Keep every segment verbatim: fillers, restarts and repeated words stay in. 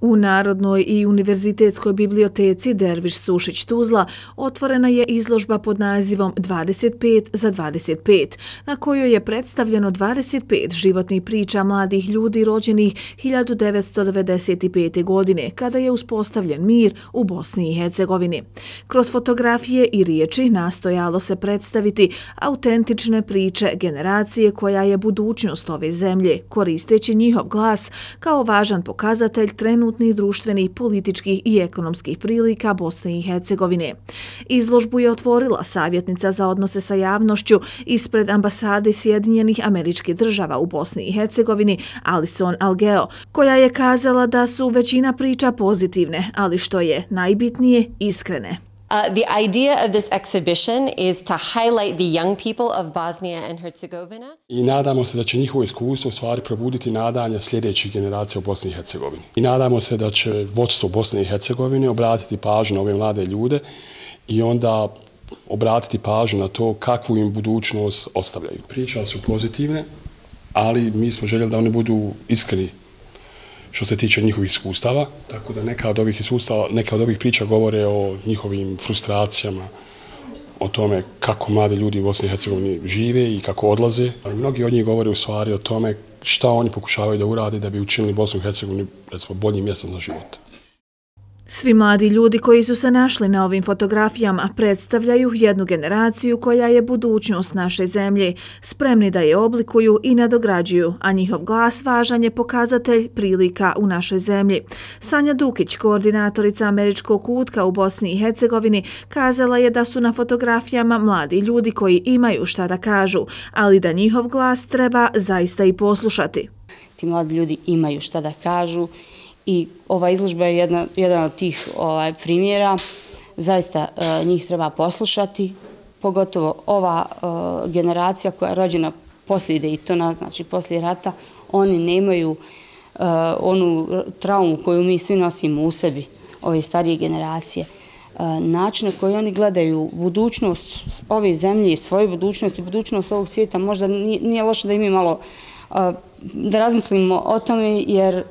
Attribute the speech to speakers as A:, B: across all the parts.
A: U Narodnoj i univerzitetskoj biblioteci Derviš Sušić Tuzla otvorena je izložba pod nazivom dvadeset pet za dvadeset pet, na kojoj je predstavljeno dvadeset pet životnih priča mladih ljudi rođenih hiljadu devetsto devedeset pete. godine, kada je uspostavljen mir u Bosni i Hercegovini. Kroz fotografije i riječi nastojalo se predstaviti autentične priče generacije koja je budućnost ove zemlje, koristeći njihov glas kao važan pokazatelj trenutnih društvenih, političkih i ekonomskih prilika Bosne i Hercegovine. Izložbu je otvorila savjetnica za odnose sa javnošću ispred ambasade Sjedinjenih Američkih Država u Bosni i Hercegovini Alison Algeo, koja je kazala da su većina priča pozitivne, ali što je najbitnije, iskrene.
B: Uh, the idea of this exhibition is to highlight the young people of Bosnia and Herzegovina.
C: I nadamo se da će njihovo iskustvo u stvari probuditi nadanja sljedećih generacija u Bosni i Hercegovini. I nadamo se da će vodstvo Bosne i Hercegovine obratiti pažnju na ove mlade ljude i onda obratiti pažnju na to kakvu im budućnost ostavljaju. Priče su pozitivne, ali mi smo željeli da oni budu iskreni što se tiče njihovih iskustava, tako da neka od ovih iskustava, neka od ovih priča govore o njihovim frustracijama, o tome kako mladi ljudi u Bosni i Hercegovini žive i kako odlaze. Ali mnogi od njih govore u stvari o tome šta oni pokušavaju da urade da bi učinili Bosnu i Hercegovinu, recimo, boljim mjestom za život.
A: Svi mladi ljudi koji su se našli na ovim fotografijama predstavljaju jednu generaciju koja je budućnost naše zemlje, spremni da je oblikuju i nadograđuju, a njihov glas važan je pokazatelj prilika u našoj zemlji. Sanja Dukić, koordinatorica Američkog kutka u Bosni i Hercegovini, kazala je da su na fotografijama mladi ljudi koji imaju šta da kažu, ali da njihov glas treba zaista i poslušati.
D: Ti mladi ljudi imaju šta da kažu i ova izložba je jedna, jedan od tih ovaj, primjera. Zaista e, njih treba poslušati, pogotovo ova e, generacija koja je rođena poslije Daytona, znači poslije rata, oni nemaju e, onu traumu koju mi svi nosimo u sebi, ove starije generacije. E, način na koji oni gledaju budućnost ove zemlje, svoju budućnost i budućnost ovog svijeta, možda nije, nije loše da i mi malo e, da razmislimo o tome, jer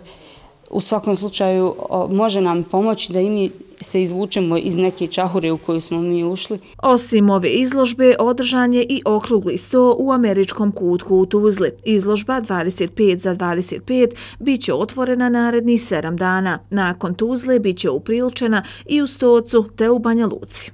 D: u svakom slučaju može nam pomoći da i mi se izvučemo iz neke čahure u koju smo mi ušli.
A: Osim ove izložbe, održan je i okrugli sto u Američkom kutku u Tuzli. Izložba dvadeset pet za dvadeset pet bit će otvorena narednih sedam dana. Nakon Tuzle bit će upriličena i u Stocu te u Banja Luci.